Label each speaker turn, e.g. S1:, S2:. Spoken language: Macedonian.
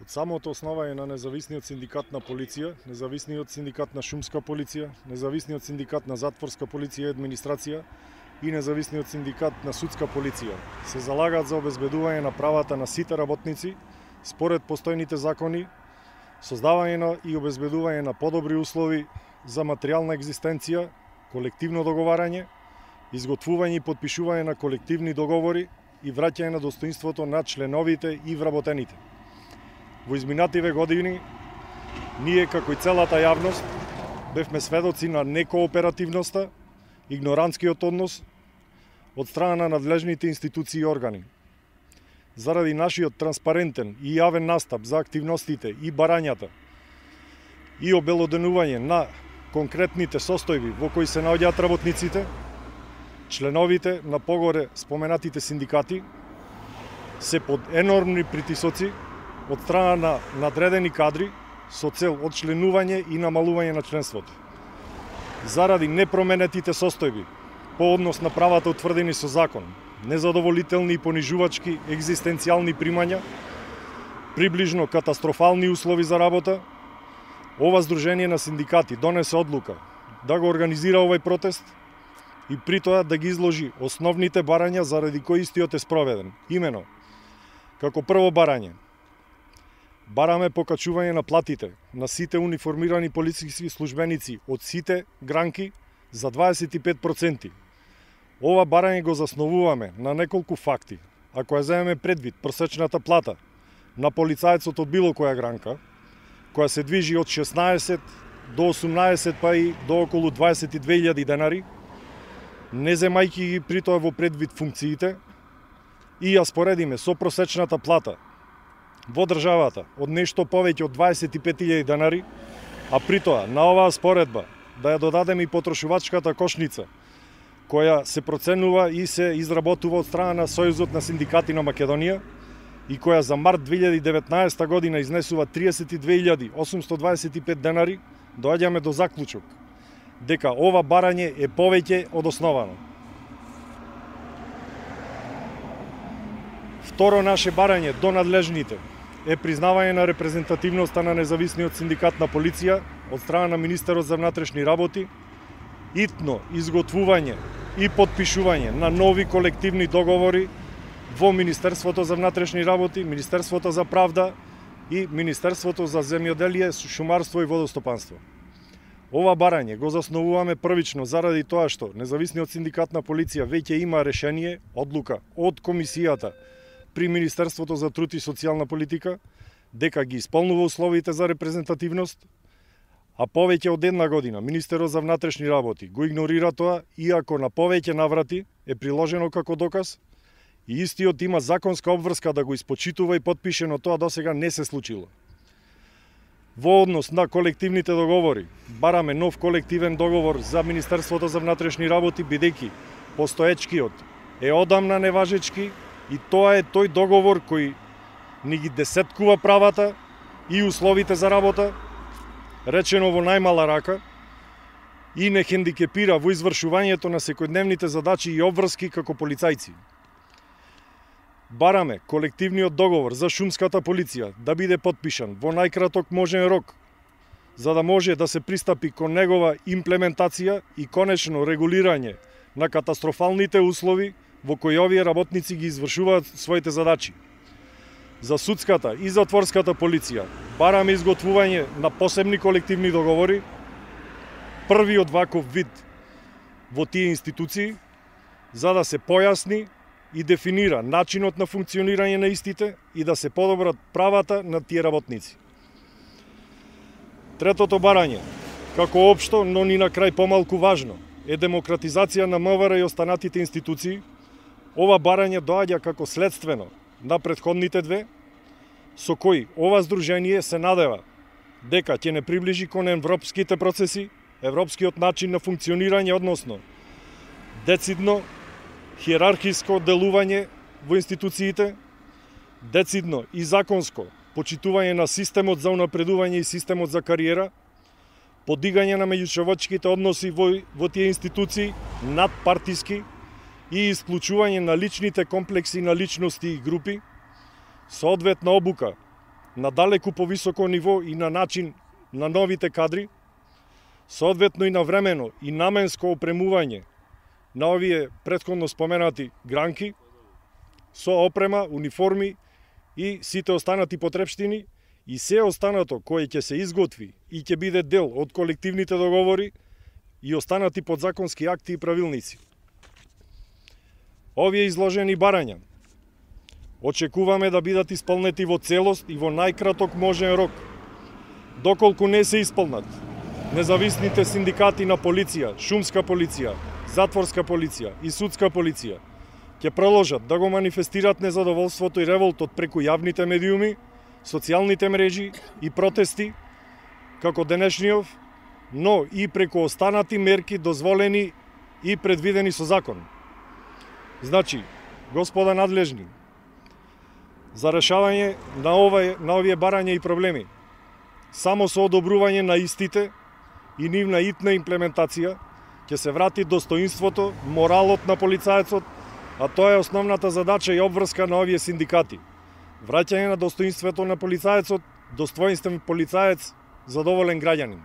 S1: Од самото основање на независниот синдикат на полиција, независниот синдикат на шумска полиција, независниот синдикат на затворска полиција и администрација и независниот синдикат на судска полиција се залагаат за обезбедување на правата на сите работници според постојните закони, создавање и обезбедување на подобри услови за материјална екзистенција, колективно договарање, изготвување и подпишување на колективни договори и враќање на достоинството на членовите и вработените. Во изминативе години, ние како и целата јавност бевме сведоци на некооперативноста, игнорантскиот однос од страна на надлежните институции и органи. Заради нашиот транспарентен и јавен настап за активностите и барањата и обелоденување на конкретните состојби во кои се наоѓаат работниците, членовите на погоре споменатите синдикати се под енормни притисоци од страна на надредени кадри со цел одчленување и намалување на членството. Заради непроменетите состојби по однос на правата утврдени со закон, незадоволителни и понижувачки екзистенцијални примања, приближно катастрофални услови за работа, ова Сдружение на синдикати донесе одлука да го организира овој протест и при тоа да ги изложи основните барања заради кои истиот е спроведен. Имено, како прво барање, бараме покачување на платите на сите униформирани полициски службеници од сите гранки за 25%. Ова барање го засновуваме на неколку факти. Ако ја земеме предвид просечната плата на полицајецот од било која гранка, која се движи од 16 до 18 па и до околу 22.000 денари, не земајќи ги при тоа во предвид функциите, и ја споредиме со просечната плата во државата од нешто повеќе од 25.000 денари, а при тоа на оваа споредба да ја додадеме и потрошувачката кошница, која се проценува и се изработува од страна на Сојузот на синдикати на Македонија и која за март 2019 година изнесува 32.825 денари, доаѓаме до заклучок дека ова барање е повеќе од основано. Второ наше барање до надлежните е признавање на репрезентативноста на независниот синдикат на полиција од страна на министерот за внатрешни работи, итно изготвување и подпишување на нови колективни договори во Министерството за внатрешни работи, Министерството за правда и Министерството за земјоделие, шумарство и водостопанство. Ова барање го засновуваме првично заради тоа што независниот синдикат на полиција веќе има решение, одлука од комисијата при Министерството за труд и социјална политика, дека ги исполнува условите за репрезентативност, а повеќе од една година Министерот за внатрешни работи го игнорира тоа, иако на повеќе наврати е приложено како доказ, и истиот има законска обврска да го испочитува и подпише, но тоа досега не се случило. Во однос на колективните договори, бараме нов колективен договор за Министерството за внатрешни работи, бидејќи постоечкиот е одамна неважечки, и тоа е тој договор кој ни ги десеткува правата и условите за работа, речено во најмала рака, и не хендикепира во извршувањето на секојдневните задачи и обврски како полицајци. Бараме колективниот договор за шумската полиција да биде подпишан во најкраток можен рок, за да може да се пристапи кон негова имплементација и конечно регулирање на катастрофалните услови во кои овие работници ги извршуваат своите задачи. За судската и затворската полиција бараме изготвување на посебни колективни договори, првиот ваков вид во тие институции, за да се појасни и дефинира начинот на функционирање на истите и да се подобрат правата на тие работници. Третото барање, како општо, но ни на крај помалку важно, е демократизација на МВР и останатите институции. Ова барање доаѓа како следствено на претходните две, со кои ова Сдружение се надева дека ќе не приближи кон европските процеси, европскиот начин на функционирање, односно децидно, хиерархиско делување во институциите, децидно и законско почитување на системот за унапредување и системот за кариера, подигање на меѓучовечките односи во тие институции надпартиски и исклучување на личните комплекси на личности и групи, соодветна обука на далеку повисоко ниво и на начин на новите кадри, соодветно и навремено и наменско опремување на овие претходно споменати гранки со опрема, униформи и сите останати потрепштини и се останато кое ќе се изготви и ќе биде дел од колективните договори и останати подзаконски акти и правилници. Овие изложени барања очекуваме да бидат исполнети во целост и во најкраток можен рок. Доколку не се исполнат, независните синдикати на полиција, шумска полиција, затворска полиција и судска полиција ќе продолжат да го манифестираат незадоволството и револтот преку јавните медиуми, социјалните мрежи и протести, како денешниот, но и преку останати мерки дозволени и предвидени со закон. Значи, господа надлежни, за решавање на овие барања и проблеми, само со одобрување на истите и нивна итна имплементација ќе се врати достоинството, моралот на полицаецот, а тоа е основната задача и обврска на овие синдикати. Враќање на достоинството на полицаецот, достоинствен полицаец, задоволен граѓанин.